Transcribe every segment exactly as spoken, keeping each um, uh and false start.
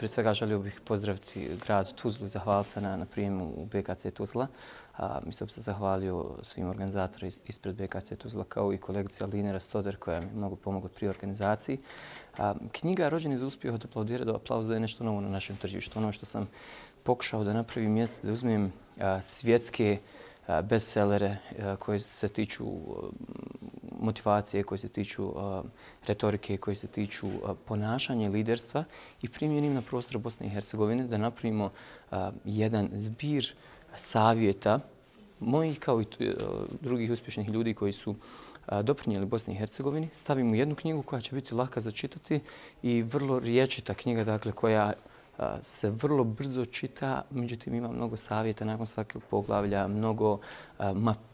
Prije svega želio bih pozdraviti grad Tuzlu i zahvaliti se na, na prijemu u B K C Tuzla. Isto bih se zahvalio svim organizatorima ispred B K C Tuzla kao i kolegici Aline Rastoder koja mi je mnogo pomogla pri organizaciji. A, knjiga Rođeni za uspjeh od aplaudira do aplauza je nešto novo na našem tržištu. Ono što sam pokušao da napravim jeste da uzmem a, svjetske a, bestsellere a, koji se tiču a, motivacije, koji se tiču a, retorike, koji se tiču a, ponašanja i liderstva i primjenim na prostor Bosne i Hercegovine da napravimo a, jedan zbir savjeta mojih kao i a, drugih uspješnih ljudi koji su doprinijeli Bosni i Hercegovini. Stavimo jednu knjigu koja će biti laka za čitati i vrlo riječita knjiga, dakle, koja se vrlo brzo čita, međutim ima mnogo savjeta nakon svakog poglavlja, mnogo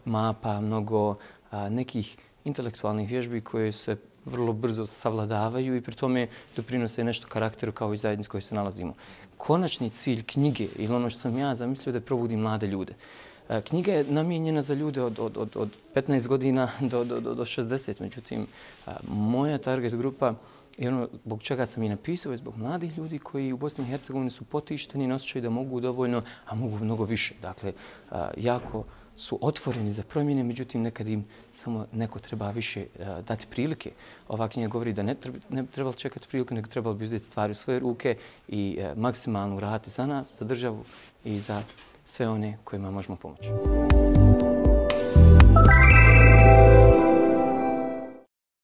mapa, mnogo nekih intelektualnih vježbi koje se vrlo brzo savladavaju i pri tome doprinose nešto karakteru kao i zajednici koji se nalazimo. Konačni cilj knjige ili ono što sam ja zamislio da probudi mlade ljude. Knjiga je namijenjena za ljude od, od, od, od petnaest godina do, do, do šezdeset. Međutim, moja target grupa i ono zbog čega sam i napisao je zbog mladih ljudi koji u Bosni i Hercegovini su potišteni i osjećaju da mogu dovoljno, a mogu mnogo više. Dakle, jako su otvoreni za promjene, međutim nekad im samo neko treba više dati prilike. Ova knjiga govori da ne treba, ne treba čekati priliku, nego trebalo bi uzeti stvari u svoje ruke i maksimalno uraditi za nas, za državu i za sve one kojima možemo pomoći.